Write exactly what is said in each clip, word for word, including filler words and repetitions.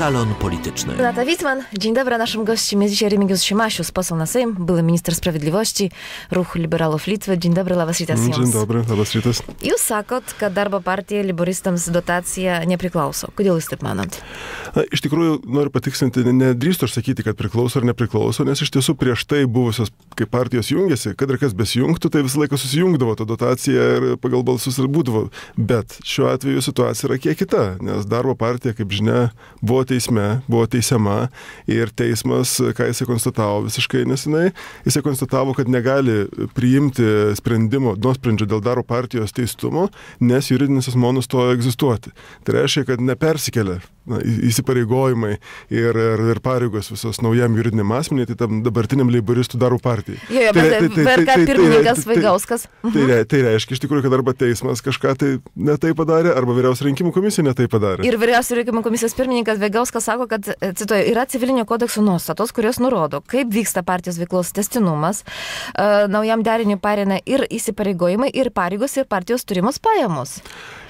Salon Polityczny. Renata Wittmann, dzień dobry. Naszym gościem jest dzisiaj Remigiusz Šimašius, poseł na Sejm, były minister sprawiedliwości, Ruch liberalów Litwy. Dzień dobry, labas rytas jums. Dzień dobry, labas rytas. Jūs sakot, kad darbo partija leiboristams dotacija nepriklauso. Kodėl jūs taip manot? Na, iš tikrųjų, noriu patikslinti, nedrįstu aš sakyti, kad priklauso ar nepriklauso, nes iš tiesų prieš tai buvusios, kai partijos jungiasi, kad ir kas besijungtų, tai visą laiką susijungdavo ta dotacija ir pagal balsus ir būdavo. Bet šiuo atveju situacija yra kiek kita, nes darbo partija, kaip žinia, buvo teisme, buvo teisiama ir teismas, ką jisai konstatavo visiškai nesenai, jisai konstatavo, kad negali priimti sprendimo, nuosprendžio dėl darbo partijos teistumo, nes juridinis asmuo nustojo egzistuoti. Tai reiškia, kad nepersikelia na, įsipareigojimai ir, ir, ir pareigos visos naujam juridiniam asmeniui, tai tam dabartiniam leiboristų darbo partijai. Jo, jo, bet V R K pirmininkas Vaigauskas. Tai, tai, tai reiškia iš tikrųjų, kad arba teismas kažką tai netai padarė, arba vyriausia rinkimų komisija netai padarė. Ir vyriausia rinkimų komisijos pirmininkas Vaigauskas sako, kad, cituoju, yra civilinio kodekso nuostatos, kurios nurodo, kaip vyksta partijos veiklos tęstinumas, uh, naujam deriniui pareina ir įsipareigojimai, ir pareigos, ir partijos turimos pajamos.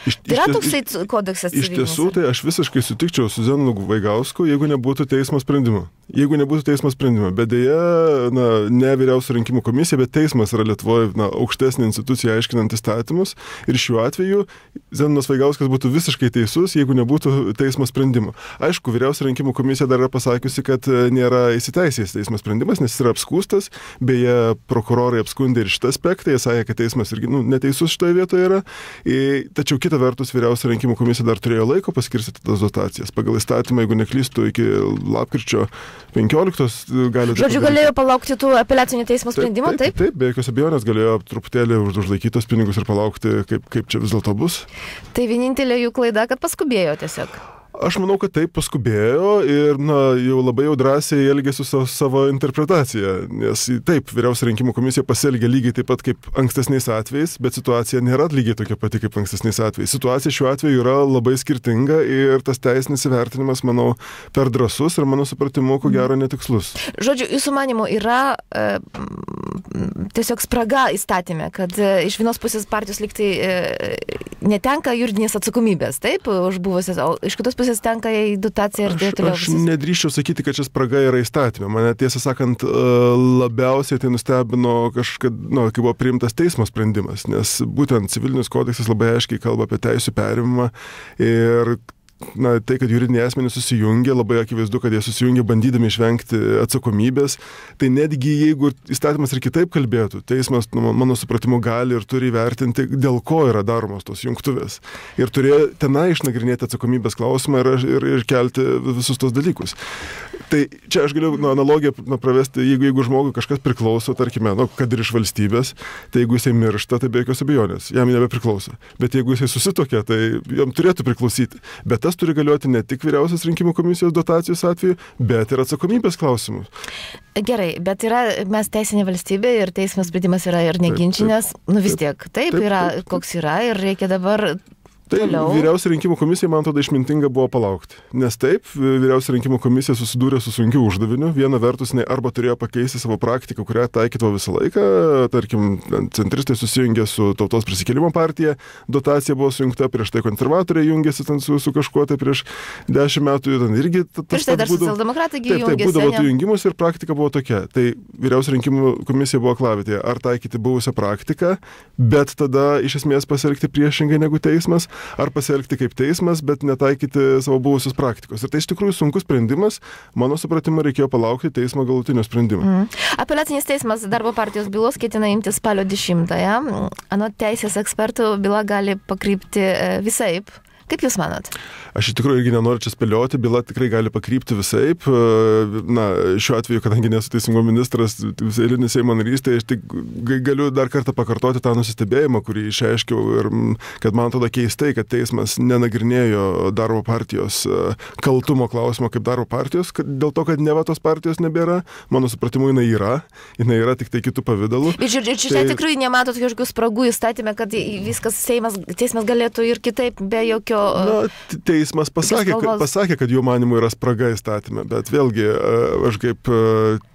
Iš, tai yra iš, toksai kodeksas iš tiesų, tai aš visiškai sutikčiau su Zenoonu Vaigausku, jeigu nebūtų teismo sprendimo. Jeigu nebūtų teismo sprendimo. Bet dėja, na, ne vyriausia rinkimų komisija, bet teismas yra Lietuvoje na, aukštesnė institucija aiškinant įstatymus. Ir šiuo atveju Zenoonas Vaigauskas būtų visiškai teisus, jeigu nebūtų teismo sprendimo. Aišku, vyriausia rinkimų komisija dar yra pasakiusi, kad nėra įsiteisėjęs teismo sprendimas, nes jis yra apskūstas. Beje, prokurorai apskundė ir šitą aspektą. Jie sakė, kad teismas irgi nu, neteisus šitoje vietoje yra. Ir, tačiau kita vertus, vyriausia rinkimų komisija dar turėjo laiko paskirstyti tas dotacijas. Pagal įstatymą, jeigu neklystu, iki lapkričio penkioliktos gali... Žodžiu, galėjo palaukti tų apeliacinio teismo sprendimo, taip? Taip, taip, be jokios abejonės galėjo truputėlį užlaikytos pinigus ir palaukti, kaip, kaip čia vis dėlto bus. Tai vienintelė jų klaida, kad paskubėjo tiesiog. Aš manau, kad taip paskubėjo ir na, jau labai jau drąsiai elgėsi su savo interpretacija, nes taip, vyriausia rinkimų komisija pasielgė lygiai taip pat kaip ankstesniais atvejais, bet situacija nėra lygiai tokia pati kaip ankstesniais atvejais. Situacija šiuo atveju yra labai skirtinga ir tas teisinis įvertinimas, manau, per drąsus ir mano supratimu, ko gero netikslus. Žodžiu, jūsų manimu yra e, tiesiog spraga įstatymė, kad e, iš vienos pusės partijos liktai e, netenka juridinės atsakomybės, taip, už buvusias, o iš kitos pusės tenka į dotaciją ir taip toliau. Aš, aš nedrįščiau sakyti, kad čia spraga yra įstatymė. Mane tiesą sakant labiausiai tai nustebino kažkad, nu, kai buvo priimtas teismo sprendimas, nes būtent civilinis kodeksas labai aiškiai kalba apie teisių perimimą ir na, tai, kad juridiniai asmenys susijungia, labai akivaizdu, kad jie susijungia bandydami išvengti atsakomybės. Tai netgi jeigu įstatymas ir kitaip kalbėtų, teismas, nu, mano supratimu, gali ir turi įvertinti, dėl ko yra daromos tos jungtuvės. Ir turėjo tenai išnagrinėti atsakomybės klausimą ir, ir, ir kelti visus tos dalykus. Tai čia aš galiu nu, analogiją nu, pravesti, jeigu, jeigu žmogui kažkas priklauso, tarkime, nu, kad ir iš valstybės, tai jeigu jisai miršta, tai be jokios abejonės, jam nebepriklauso. Bet jeigu jisai susitokia, tai jam turėtų priklausyti. Bet tas turi galioti ne tik vyriausios rinkimų komisijos dotacijos atveju, bet ir atsakomybės klausimus. Gerai, bet yra, mes teisinė valstybė ir teismo sprendimas yra ir neginčinės, nu vis tiek, taip, taip, taip yra, taip, taip. Koks yra ir reikia dabar... Tai vyriausia rinkimų komisija, man atrodo, išmintinga buvo palaukti. Nes taip, vyriausia rinkimų komisija susidūrė su sunkiu uždaviniu. Viena vertus, jinai arba turėjo pakeisti savo praktiką, kurią taikydavo visą laiką. Tarkim, centristai susijungė su Tautos prisikėlimo partija, dotacija buvo sujungta, prieš tai konservatoriai jungėsi su, su kažkuo, tai prieš dešimt metų ten irgi... Prieš tai dar socialdemokratai jungėsi. Taip, taip, būdavo tų jungimus ir praktika buvo tokia. Tai vyriausia rinkimų komisija buvo aklavitėje. Ar taikyti buvusią praktiką, bet tada iš esmės pasielgti priešingai negu teismas, ar pasielgti kaip teismas, bet netaikyti savo buvusios praktikos. Ir tai iš tikrųjų sunkus sprendimas. Mano supratimu, reikėjo palaukti teismo galutinio sprendimo. Mm. Apeliacinis teismas darbo partijos bylos ketina imti spalio dešimtąją. Anot teisės ekspertų, byla gali pakrypti visaip. Kaip Jūs manat? Aš iš tikrųjų irgi nenoriu čia spėlioti, byla tikrai gali pakrypti visaip. Na, šiuo atveju, kadangi nesu teisingumo ministras, eilinis Seimo narys, tai aš tik galiu dar kartą pakartoti tą nusistebėjimą, kurį išreiškiau ir kad man atrodo keistai, kad teismas nenagrinėjo darbo partijos kaltumo klausimo kaip darbo partijos, kad dėl to, kad neva tos partijos nebėra, mano supratimu, jinai yra, jinai yra tik tai kitų pavydalų. Ir čia tai... tikrai nematot kažkokių spragų įstatymę, kad viskas Seimas, teismas galėtų ir kitaip be jokio Na, teismas pasakė, kad, pasakė, kad jų manimų yra spraga įstatyme, bet vėlgi aš kaip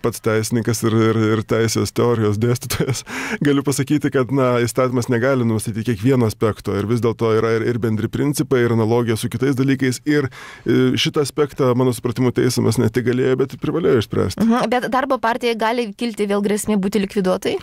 pats teisininkas ir, ir, ir teisės teorijos dėstytojas galiu pasakyti, kad na, įstatymas negali nustatyti kiekvieno aspekto ir vis dėlto yra ir, ir bendri principai, ir analogija su kitais dalykais ir šitą aspektą, mano supratimu, teismas ne tik galėjo, bet ir privalėjo išspręsti. Mhm, bet darbo partijai gali kilti vėl grėsmė būti likviduotai?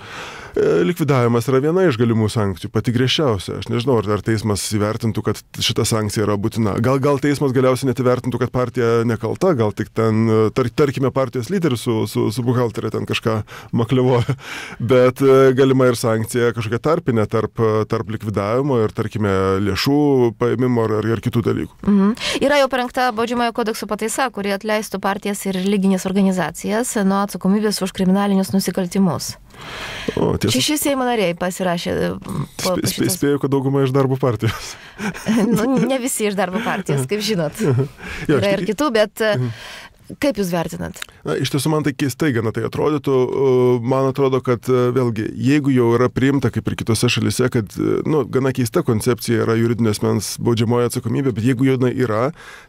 Likvidavimas yra viena iš galimų sankcijų, pati griežčiausia. Aš nežinau, ar teismas įvertintų, kad šita sankcija yra būtina. Gal, gal teismas galiausiai net įvertintų, kad partija nekalta, gal tik ten, tar, tarkime, partijos lyderis su, su, su buhalterė ten kažką makliavoja. Bet galima ir sankcija kažkokia tarpinė tarp, tarp likvidavimo ir, tarkime, lėšų paėmimo ar, ar kitų dalykų. Mhm. Yra jau parengta baudžiamojo kodekso pataisa, kuri atleistų partijas ir religinės organizacijas nuo atsakomybės už kriminalinius nusikaltimus. O, tiesa, Šeši Seimo nariai pasirašė. Po, spė, spė, spėjau, kad dauguma iš darbo partijos. Nu, ne visi iš darbo partijos, kaip žinot. Jo, yra ir kitų, bet kaip jūs vertinat? Na, iš tiesų man tai keistai gana tai atrodytų. Man atrodo, kad vėlgi, jeigu jau yra priimta, kaip ir kitose šalise, kad nu, gana keista koncepcija yra juridinio asmens baudžiamoji atsakomybė, bet jeigu jau yra,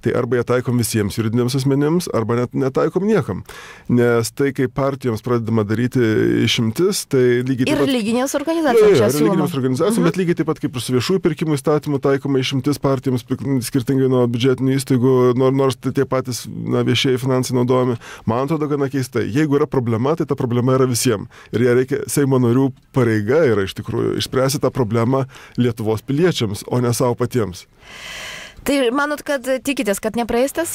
tai arba jie taikom visiems juridiniams asmenims, arba net netaikom niekam. Nes tai, kai partijoms pradedama daryti išimtis, tai lygiai taip pat... Ir religinės organizacijos čia siūloma. Religinės organizacijos, mhm. bet lygiai taip pat kaip ir su viešųjų pirkimų įstatymu taikoma išimtis partijoms skirtingai nuo biudžetinių įstaigų, nors tai tie patys na, viešieji finansai naudojami. Man atrodo gana keistai. Jeigu yra problema, tai ta problema yra visiems. Ir jie reikia, Seimo narių pareiga yra iš tikrųjų išspręsti tą problemą Lietuvos piliečiams, o ne savo patiems. Tai manot, kad tikitės, kad nepraeis tas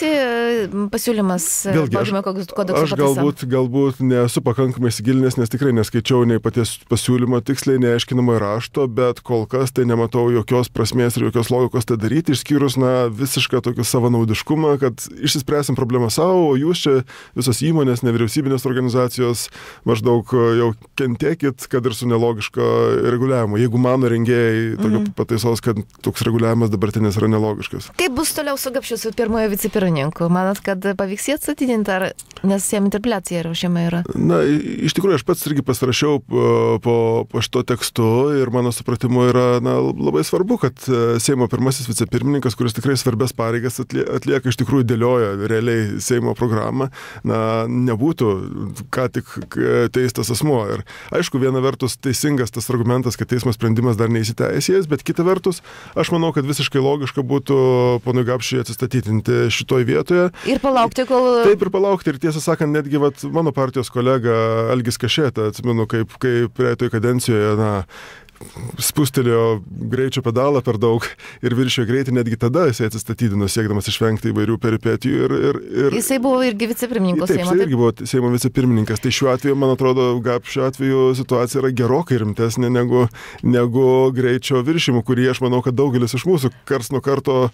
pasiūlymas baudžiamojo kodekso pataisa? Aš galbūt, galbūt nesu pakankamai įsigilinęs, nes tikrai neskaičiau nei paties pasiūlymo tiksliai, neaiškinamo rašto, bet kol kas tai nematau jokios prasmės ir jokios logikos tai daryti, išskyrus na, visišką tokį savanaudiškumą, kad išsispręsim problemą savo, o jūs čia visos įmonės, nevyriausybinės organizacijos maždaug jau kentėkit, kad ir su nelogiško reguliavimo. Jeigu mano rengėjai tokio mm. pataisos, kad toks reguliavimas dabartinis yra nelogiškas. Kaip bus toliau su Gapšiu, su pirmojo vicepirmininku? Manat, kad pavyks jį atstatydinti, ar nes jam interpeliacija ruošiama yra? Na, iš tikrųjų, aš pats irgi pasirašiau po, po šito tekstu ir mano supratimu yra na, labai svarbu, kad Seimo pirmasis vicepirmininkas, kuris tikrai svarbias pareigas atlieka, iš tikrųjų dėlioja realiai Seimo programą, na, nebūtų ką tik teistas asmuo. Ir aišku, viena vertus teisingas tas argumentas, kad teismo sprendimas dar neįsiteisėjęs, bet kita vertus, aš manau, kad visiškai logiška būtų ponui Gapšiui atsistatydinti šitoj vietoje. Ir palaukti, kol... Taip, ir palaukti. Ir tiesą sakant, netgi vat, mano partijos kolega Algis Kašėta, atsimenu, kaip, kaip praeitoj kadencijoje, na, spustelėjo greičio pedalą per daug ir viršijo greitį, netgi tada jisai atsistatydino, siekdamas išvengti įvairių peripetijų. Ir, ir, ir... Jisai buvo irgi vicepirmininkas Seimo. Taip, jisai irgi buvo Seimo vicepirmininkas. Tai šiuo atveju, man atrodo, Gapšio atveju situacija yra gerokai rimtesnė negu, negu greičio viršimų, kurį aš manau, kad daugelis iš mūsų karts nuo karto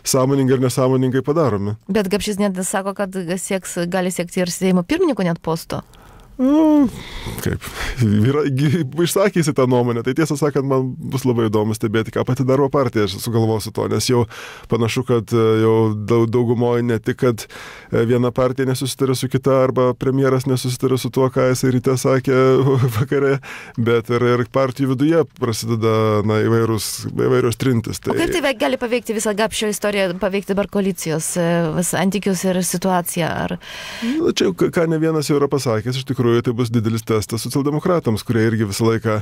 sąmoningai ir nesąmoningai padarome. Bet Gapšis net sako, kad sieks, gali siekti ir Seimo pirmininko net posto. Nu, kaip, yra, išsakysi tą nuomonę, tai tiesą sakant, man bus labai įdomu stebėti, ką pati darbo partija sugalvosiu to, nes jau panašu, kad jau daugumoje ne tik, kad viena partija nesusitarė su kita, arba premjeras nesusitarė su tuo, ką jisai ryte sakė vakare, bet ir, ir partijų viduje prasideda na, įvairūs, įvairios trintis. Tai... O kaip tai gali paveikti visą Gapšio istoriją, paveikti dabar koalicijos santykius ir situaciją? Ar... Na, čia, ką ne vienas jau yra pasakęs, iš tikrųjų, tai bus didelis testas socialdemokratams, kurie irgi visą laiką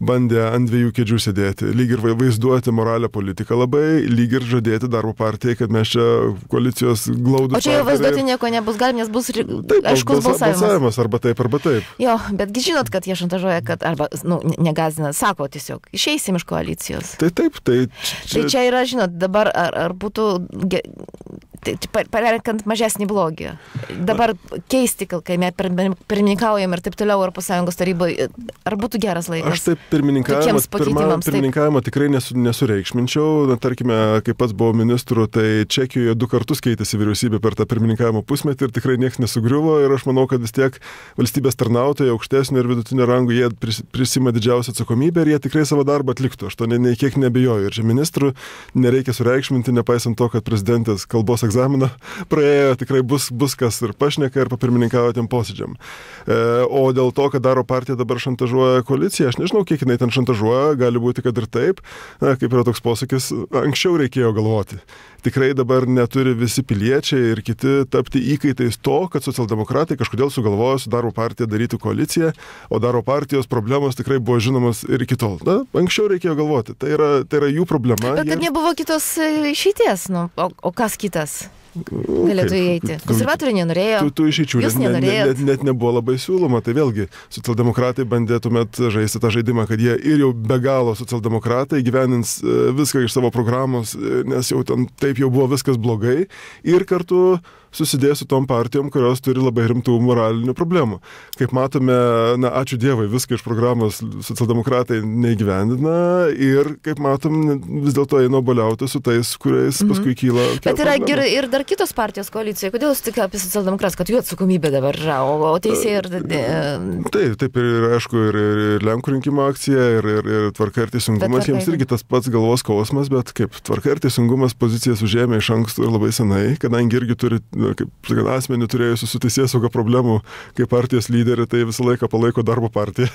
bandė ant dviejų kėdžių sėdėti. Lyg ir vaizduoti moralę politiką labai, lyg ir žadėti darbo partijai, kad mes čia koalicijos glaudus. O čia jau vaizduoti nieko nebus galim, nes bus taip, aiškus balsavimas. balsavimas. Arba taip, arba taip. Jo, betgi žinot, kad jie šantažuoja, kad, arba, nu, negazina, sako tiesiog, išeisim iš koalicijos. Tai taip, tai... Čia, tai čia yra, žinot, dabar ar, ar būtų... Ge... parenkant mažesnį blogį. Dabar keisti, kai mes pirmininkaujam ir taip toliau Europos Sąjungos taryboje, ar būtų geras laikas? Aš taip pirmininkavimą, pirma, pirmininkavimą tikrai nesu, nesureikšminčiau. Na, tarkime, kai pats buvau ministru, tai Čekijoje du kartus keitėsi vyriausybė per tą pirmininkavimo pusmetį ir tikrai niekas nesugriuvo ir aš manau, kad vis tiek valstybės tarnautojai aukštesnio ir vidutinio rango jie prisima didžiausią atsakomybę ir jie tikrai savo darbą atliktų. Aš to ne, ne kiek nebejoju. Ir čia ministrų nereikia sureikšminti, nepaisant to, kad prezidentės kalbos egzaminas egzaminą praėjo, tikrai bus, bus kas ir pašneka, ir papirmininkavo tiem posėdžiam. E, o dėl to, kad daro partija dabar šantažuoja koaliciją, aš nežinau, kiek jinai ten šantažuoja, gali būti, kad ir taip, na, kaip yra toks posakis, anksčiau reikėjo galvoti. Tikrai dabar neturi visi piliečiai ir kiti tapti įkaitais to, kad socialdemokratai kažkodėl sugalvojo su darbo partija daryti koaliciją, o darbo partijos problemos tikrai buvo žinomas ir iki tol. Na, anksčiau reikėjo galvoti, tai yra, tai yra jų problema. Bet kad jie... nebuvo kitos išeities, nu, o, o kas kitas? Galėtų įeiti. Konservatoriai nenorėjo. Tu, tu išeičių, net, net, net, net nebuvo labai siūloma. Tai vėlgi, socialdemokratai bandė tuomet žaisti tą žaidimą, kad jie ir jau be galo socialdemokratai gyvenins viską iš savo programos, nes jau ten taip jau buvo viskas blogai. Ir kartu susidės su tom partijom, kurios turi labai rimtų moralinių problemų. Kaip matome, na, ačiū Dievui, viską iš programos socialdemokratai neįgyvendina ir, kaip matom, vis dėlto eina boliauti su tais, kuriais mm-hmm. paskui kyla. Bet yra ir, ir dar kitos partijos koalicijoje. Kodėl jūs tik apie socialdemokratus, kad jų atsakomybė dabar yra, o, o teisė ir... Taip, taip ir, aišku, ir, ir, ir Lenkų rinkimų akcija, ir, ir, ir Tvarka ir Teisingumas, tvarka, jiems irgi tas pats galvos skausmas, bet kaip Tvarka ir Teisingumas pozicijas užėmė iš anksto ir labai senai, kadangi irgi turi kaip sakant, asmenį turėjusių su teisėsauga problemų kaip partijos lyderį, tai visą laiką palaiko darbo partiją.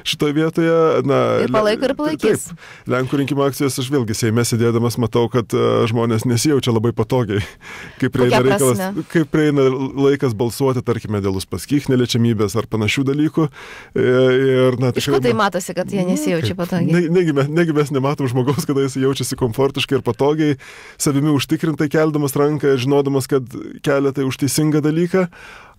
Šitoje vietoje, na... Ir palaiko ir palaikys. Taip, Lenkų rinkimų akcijos aš vėlgi Seime sėdėdamas matau, kad uh, žmonės nesijaučia labai patogiai, kaip prieina, reikalas, kaip prieina laikas balsuoti, tarkime, dėl Uspaskich neliečiamybės ar panašių dalykų. Ir, na, iš ko tai matosi, kad jie nesijaučia patogiai? Ne, negi, mes, negi mes nematom žmogaus, kada jis jaučiasi komfortiškai ir patogiai, savimi užtikrintai keldamas ranką ir žinodamas, kad kelia tai už teisingą dalyką,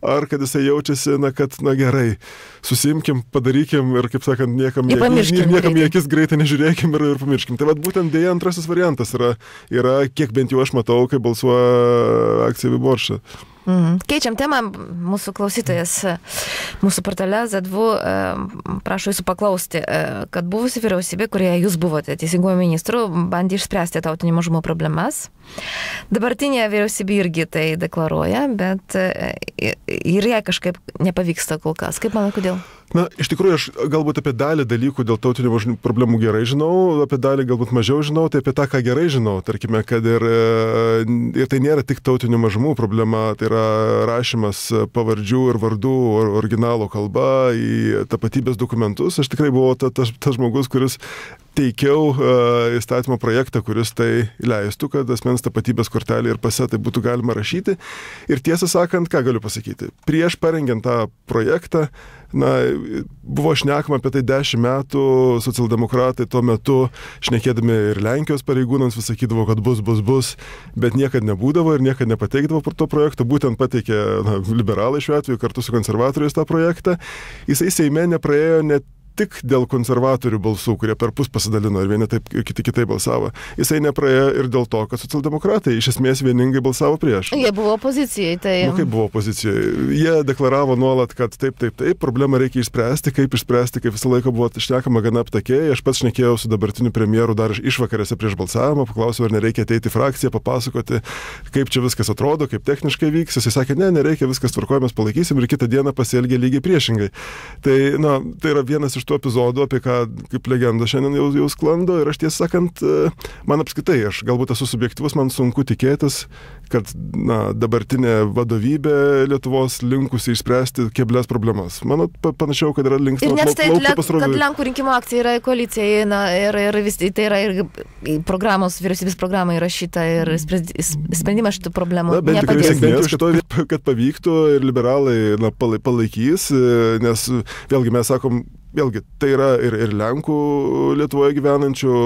ar kad jisai jaučiasi, na, kad, na gerai, susimkim, padarykim ir, kaip sakant, niekam, niekam, niekam į akis greitai nežiūrėkim ir, ir pamirškim. Tai vad būtent dėja antrasis variantas yra, yra, kiek bent jau aš matau, kai balsuoja akcija Viborša. Mhm. Keičiam temą, mūsų klausytojas mūsų portale Z D V prašo jūsų paklausti, kad buvusi vyriausybė, kurioje jūs buvote teisingumo ministru, bandė išspręsti tautinių mažumų problemas. Dabartinė vyriausybė irgi tai deklaruoja, bet ir jai kažkaip nepavyksta kol kas. Kaip manai, kodėl? Na, iš tikrųjų, aš galbūt apie dalį dalykų dėl tautinių mažumų problemų gerai žinau, apie dalį galbūt mažiau žinau, tai apie tą, ką gerai žinau. Tarkime, kad ir, ir tai nėra tik tautinių mažumų problema, tai yra rašymas pavardžių ir vardų originalo kalba į tapatybės dokumentus. Aš tikrai buvau ta, ta, tas žmogus, kuris teikiau uh, įstatymo projektą, kuris tai leistų, kad asmens tapatybės kortelė ir pase tai būtų galima rašyti. Ir tiesą sakant, ką galiu pasakyti, prieš parengiant tą projektą, na, buvo šnekama apie tai dešimt metų, socialdemokratai tuo metu šnekėdami ir Lenkijos pareigūnams vis sakydavo, kad bus, bus, bus, bet niekad nebūdavo ir niekad nepateikdavo pro to projekto, būtent pateikė na, liberalai šiuo atveju kartu su konservatoriais tą projektą. Jisai Seime nepraėjo net tik dėl konservatorių balsų, kurie per pus pasidalino ir vieni taip, ir kiti kitai balsavo. Jisai nepraėjo ir dėl to, kad socialdemokratai iš esmės vieningai balsavo prieš. Jie buvo opozicijai, tai... Nu, kaip buvo opozicijai? Jie deklaravo nuolat, kad taip, taip, taip, problemą reikia išspręsti, kaip išspręsti, kaip visą laiką buvo šnekama gana aptakiai. Aš pats šnekėjau su dabartiniu premjeru dar išvakarėse prieš balsavimą, paklausiau, ar nereikia ateiti į frakciją, papasakoti, kaip čia viskas atrodo, kaip techniškai vyks. Jisai sakė, ne, nereikia, viskas tvarkoja, mes palaikysim ir kitą dieną pasielgė lygiai priešingai. Tai, na, tai yra vienas iš tų epizodų, apie ką kaip legenda šiandien jau, jau sklando ir aš tiesą sakant, man apskritai, aš galbūt esu subjektyvus, man sunku tikėtis, kad na, dabartinė vadovybė Lietuvos linkusi išspręsti keblias problemas. Mano panašiau, kad yra linksma plaukti pasroviui. Ir net tai, pasroviui. kad Lenkų rinkimų akcija yra koalicija na, ir, ir vis, tai yra ir programos, vyriausybės programa įrašyta ir sprendimas šitų problemų na, bent nepadės. Bent jau šito, kad pavyktų ir liberalai na, palaikys, nes vėlgi mes sakom, vėlgi, tai yra ir, ir Lenkų Lietuvoje gyvenančių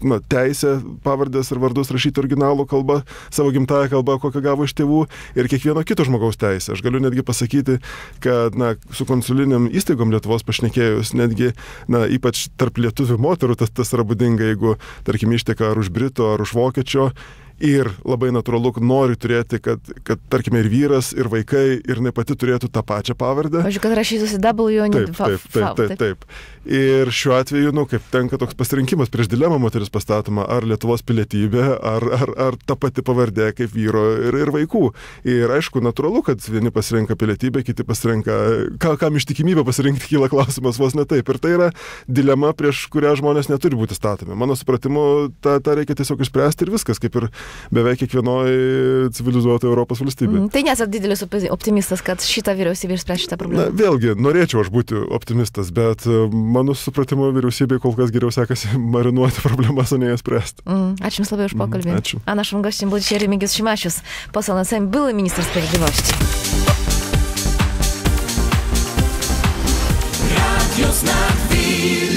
na, teisė pavardės ir vardus rašyti originalų kalbą, savo gimtąją kalbą, kokią gavo iš tėvų, ir kiekvieno kito žmogaus teisė. Aš galiu netgi pasakyti, kad na, su konsuliniam įstaigom Lietuvos pašnekėjus, netgi na, ypač tarp lietuvių moterų tas, tas yra būdinga, jeigu, tarkim, išteka ar už Brito, ar už Vokiečio. Ir labai natūralu, nori turėti, kad, kad tarkime, ir vyras, ir vaikai, ir ne pati turėtų tą pačią pavardę. Pavyzdžiui, kad rašytųsi W, o ne taip, taip, taip, taip, taip. Ir šiuo atveju, nu, kaip tenka toks pasirinkimas, prieš dilemą moteris pastatoma, ar Lietuvos pilietybė, ar, ar, ar ta pati pavardė kaip vyro ir, ir vaikų. Ir aišku, natūralu, kad vieni pasirenka pilietybę, kiti pasirenka, ka, kam ištikimybę pasirinkti, kyla klausimas vos ne taip. Ir tai yra dilema, prieš kurią žmonės neturi būti statomi. Mano supratimu, tą, tą reikia tiesiog išspręsti ir viskas, kaip ir beveik kiekvienoje civilizuotoje Europos valstybėje. Mm, tai nesat didelis optimistas, kad šitą vyriausybę išspręs šitą problemą? Na, vėlgi, norėčiau aš būti optimistas, bet mano supratimo vyriausybėje kol kas geriau sekasi marinuoti problemas, o ne jas spręsti. Mm, ačiū Jums labai už pokalbį. Mm, ačiū. A naszym gościem był dzisiaj Remigiusz Šimašius, poseł na Sejm, były minister sprawiedliwości. Radio Znak Wilna.